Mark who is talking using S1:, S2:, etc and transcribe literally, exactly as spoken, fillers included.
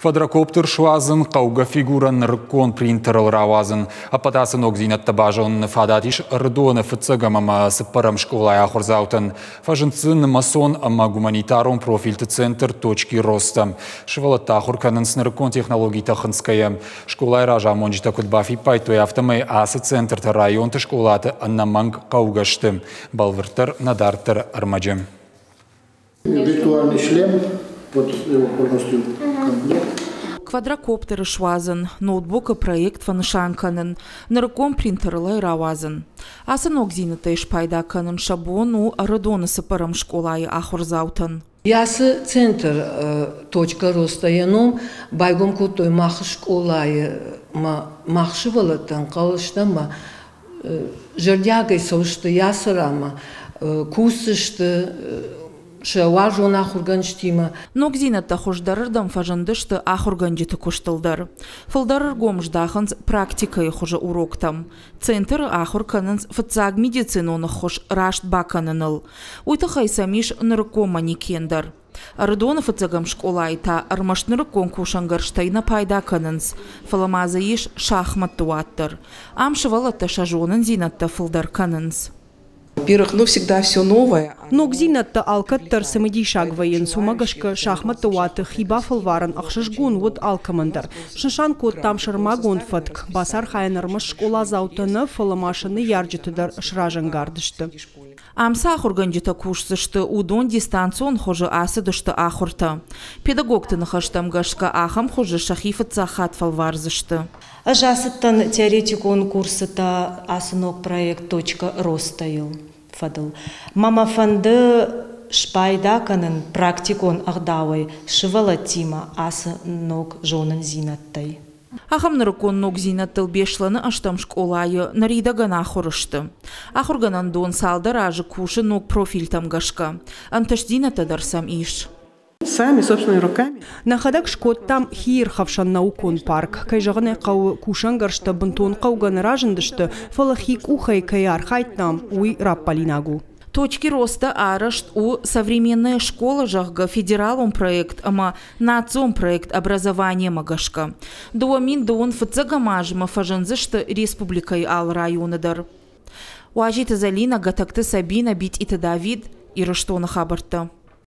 S1: Квадрокоптер суадзын, хъӕугӕ фигурӕ нырыккон принтерыл рауадзын. Ӕппӕт ацы ногдзинӕдтӕ базоныны фадат ис Ӕрыдоны фыццӕгӕм ӕмӕ цыппӕрӕм скъолайы ахуырдзаутӕн. Фӕзынд дзы нымӕцон ӕмӕ гуманитарон профильты центр «Точки роста». Сывӕллӕттӕ ахуыр кӕнынц нырыккон технологитӕ хынцгӕйӕ. Скъолайы разамонджытӕ куыд бафиппайдтой, афтӕмӕй ацы центртӕ районты скъолаты ӕнӕмӕнг хъӕугӕ сты. Бӕлвырддӕр нӕ дарддӕры ӕрмӕджы.
S2: Виртуальный шлем, вот его полностью комплект.
S3: Квадрокоптеры суадзын, ноутбукы проект фӕнысан кӕнын, нырыккон принтерыл ӕй рауадзын. Ацы ногдзинӕдтӕй спайда кӕнын сӕ бон у Ӕрыдоны цыппӕрӕм скъолайы ахуырдзаутӕн.
S4: Ацы центр «Точка роста» йӕ ном байгом кодтой мах скъолайы, мах сывӕллӕттӕ ӕнхъӕл стӕм ӕмӕ зӕрдиагӕй цӕудзысты ацы ранмӕ, кусдзысты сӕ уарзон ахуыргӕнджытимӕ.
S3: Ногдзинӕдтӕ хуыздӕрырдӕм фӕзындысты ахуыргӕнджыты куыстыл дӕр. Фылдӕр ӕргом здахынц практикӕйы хуызы уроктӕм. Центры ахуыр кӕнынц фыццаг медицинон ӕххуыс раст бакӕныныл. Уый тыххӕй сӕм ис нырыккон манекен дӕр. Ӕрыдоны фыццӕгӕм скъолайы та ӕрмӕст нырыккон кусӕнгӕрзтӕй нӕ пайда кӕнынц, фӕлӕ ма дзы ис шахматты уат дӕр. Ам сывӕллӕттӕ сӕ зонындзинӕдтӕ фылдӕр кӕнынц.
S5: Во-первых, ну, всегда все новое.
S6: Ногдзинӕдтӕ алкӕддӕр цымыдисаг вӕййынц, уымӕ гӕсгӕ шахматты уаты хи бафӕлварын ӕхсызгон уыд алкӕмӕн дӕр. Снысан кодтам сӕрмагонд фӕтк, бацархайӕн ӕрмӕст скъоладзаутӕ нӕ, фӕлӕ ма сӕ ныййарджыты дӕр сразӕнгард сты.
S3: Ам цы ахуыргӕнджытӕ кусдзысты, уыдон дистанцион хуызы ацыдысты ахуыртӕ. Педагогты ныхӕстӕм гӕсгӕ ахӕм хуызы сӕхи фыццаг хатт фӕлвардзысты.
S7: Ӕз ацыдтӕн теоретикон курсытӕ ацы ног проект «Точка роста»-йыл фӕдыл. Мӕ мӕ фӕнды спайда кӕнын практикон ӕгъдауӕй сывӕллӕттимӕ ацы ног зонындзинӕдтӕй.
S3: Ахӕм нырыккон ногдзинӕдтыл Беслӕны ӕстӕм скъолайы ныридӕгӕн ахуыр сты. Ахуыргӕнӕндон цалдӕр азы кусы ног профильтӕм гӕсгӕ. Ӕнтыстдзинӕдтӕ дӕр сӕм ис.
S8: Сами собственными руками.
S6: Нӕхӕдӕг скодтам хиирхӕфсӕн наукон парк. Кӕй зӕгъын ӕй хъӕуы, кусӕнгӕрзтӕ бынтон хъӕугӕ нӕ разындысты, фӕлӕ хи къухӕй кӕй архайдтам, уый раппӕлинаг у.
S3: «Точки роста» арӕзт у «Современная школа», зӕгъгӕ, федералон проект ӕмӕ национ проект «Образование»-мӕ гӕсгӕ. Дыууӕ мин дыууын фыццӕгӕм азмӕ фӕзындзысты республикӕйы алы районы дӕр. Уазиты Залина, Гатӕгты Сабина, Битъиты Давид, Ирыстоны хабӕрттӕ.